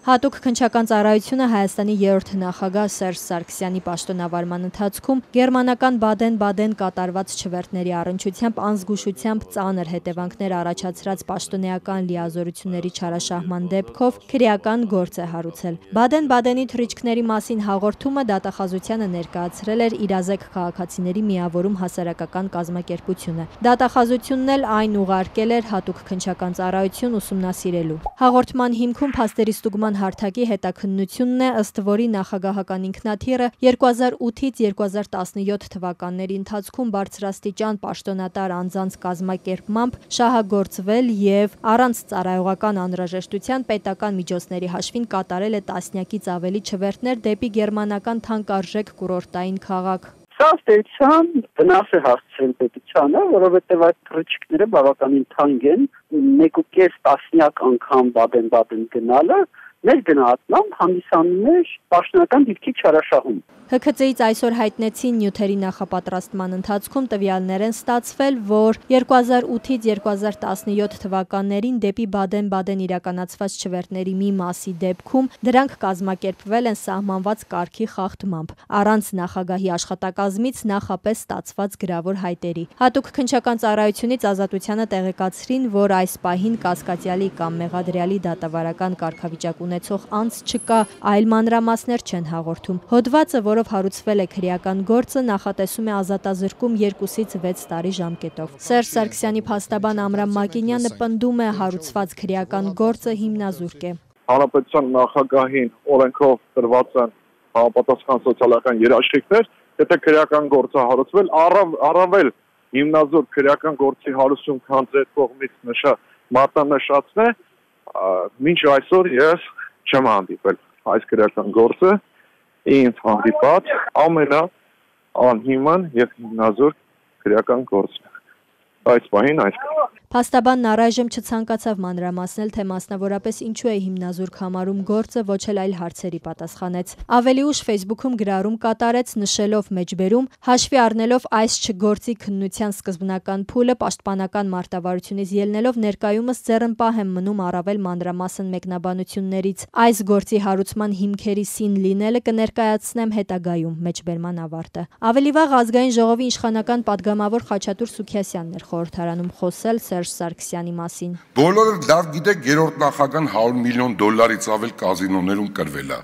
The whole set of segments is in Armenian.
Հատուկ քննչական ծառայությունը Հայաստանի 3-րդ նախագահ Սերժ Սարգսյանի պաշտոնավարման ընթացքում գերմանական Բադեն-Բադեն կատարված չվերթների առնչությամբ անզգուշությամբ ծանր հետևանքներ առաջացրած պաշտոնեական լիազորությունների չարաշահման դեպքով քրեական գործ է հարուցել։ Բադեն-Բադենի թռիչքների մասին հաղորդումը դատախազությանը ներկայացրել էր իրազեկ քաղաքացիների միավորում հասարակական կազմակերպությունը։ Դատախազությունն էլ այն ուղարկել էր հատուկ քննչական ծառայություն ուսումնասիրելու։ Հաղորդման հիմքում փաստերի ստուգման հարթակի հետաքննությունն է, ըստ որի նախագահական ինքնաթիռը 2008-ից 2017 թվականների ընթացքում բարձրաստիճան պաշտոնատար անձանց կազմակերպմամբ շահագործվել եւ առանց ծառայողական անհրաժեշտության պետական միջոցների հաշվին կատարել է տասնյակից ավելի չվերթներ դեպի գերմանական թանկարժեք կուրորտային քաղաք։ Սա ստեցան վնաս է հասցրել պետությանը, որովհետև այդ թռիչքները բավականին թանկ են, 1.5 տասնյակ անգամ Բադեն-Բադեն գնալը մեր գնահատմամբ հանդիսանում է պաշտոնական դիրքի չարաշահում։ ՀՔԾ-ից այսօր հայտնեցին նյութերի նախապատրաստման ընթացքում տվյալներ են ստացվել, որ 2008-ից 2017 թվականներին դեպի Բադեն-Բադեն իրականացված չվերթների մի մասի դեպքում դրանք կազմակերպվել են սահմանված կարգի խախտմամբ, առանց նախագահի աշխատակազմից նախապես ստացված գրավոր հայտերի։ Հատուկ քննչական ծառայությունից Ազատությանը տեղեկացրին, որ այս պահին կասկածյալի կամ մեղադրյալի դատավարական կարգավիճակ ունեցող անձ չկա, այլ մանրամասներ չեն հաղորդում։ Հոդվածը, որով հարուցվել է քրեական գործը, նախատեսում է ազատազրկում 2-ից 6 տարի ժամկետով։ Սերժ Սարգսյանի փաստաբան Ամրամ Մակինյանը պնդում է հարուցված քրեական գործը հիմնազուրկ է։ Հանրապետության նախագահին օրենքով տրված են համապատասխան սոցիալական երաշխիքներ, եթե քրեական գործը հարուցվել, առավել հիմնազուրկ քրեական գործի հարուցում, քան ձեր կողմից մատնանշածն է, մինչ այսօր ես չեմ հանդիպել այս քրեական գործը ինձ հանդիպած ամենաանհիմն եւ հիմնազուրկ քրեական գործն է։ Այս պահին այսքան։ Փաստաբանն առայժմ չցանկացավ մանրամասնել, թե մասնավորապես ինչու է հիմնազուրկ համարում գործը, ոչ էլ այլ հարցերի պատասխանեց։ Ավելի ուշ Facebook-ում գրառում կատարեց, նշելով մեջբերում, հաշվի առնելով այս չգործի քննության սկզբնական փուլը, պաշտպանական մարտավարությունից ելնելով ներկայումս ձեռնպահ եմ մնում առավել մանրամասն մեկնաբանություններից։ Այս գործի հարուցման հիմքերի սին լինելը կներկայացնեմ հետագայում, մեջբերման ավարտը։ Ավելի վաղ Ազգային ժողովի իշխանական падգամավոր Խաչատուր Սուքիասյանն էր խորհրդարանում խոսել Սերժ Սարգսյանի մասին։ Բոլորը լավ գիտեք, երրորդ նախագահան $100 միլիոն ավել կազինոներում կրվել է,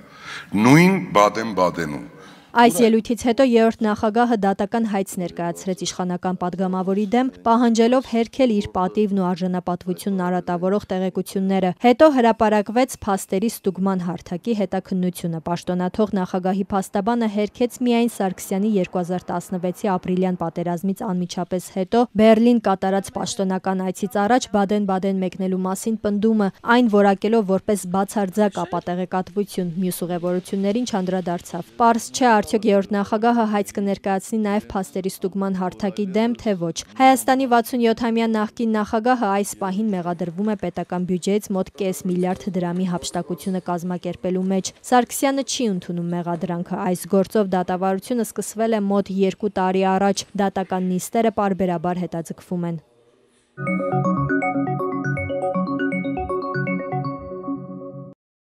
նույն Բադեն-Բադենում։ Այս ելույթից հետո 3-րդ նախագահը դատական հայց ներկայացրեց իշխանական падգամավորի դեմ, պահանջելով հերքել իր պատիվն ու արժանապատվությունն արատավորող տեղեկությունները։ Հետո հրապարակվեց փաստերի ստուգման հարթակի հետաքննությունը։ Պաշտոնաթող նախագահի փաստաբանը հերքեց միայն Սարգսյանի 2016-ի ապրիլյան պատերազմից անմիջապես հետո Բեռլին կատարած պաշտոնական այցից առաջ Բադեն-Բադեն մեկնելու մասին պնդումը, այն որակելով որպես բացարձակ ապատեղեկատվություն, մյուս ուղևորություններին չանդրադարձավ։ Պարզ չէ, արդյոք 3-րդ նախագահը հայց կներկայացնի նաև փաստերի ստուգման հարթակի դեմ, թե ոչ։ Հայաստանի 67-ամյա նախկին նախագահը այս պահին մեղադրվում է պետական բյուջեից մոտ կես միլիարդ դրամի հափշտակությունը կազմակերպելու մեջ։ Սարգսյանը չի ընդունում մեղադրանքը։ Այս գործով դատավարությունը սկսվել է մոտ 2 տարի առաջ։ Դատական նիստերը պարբերաբար հետաձգվում են։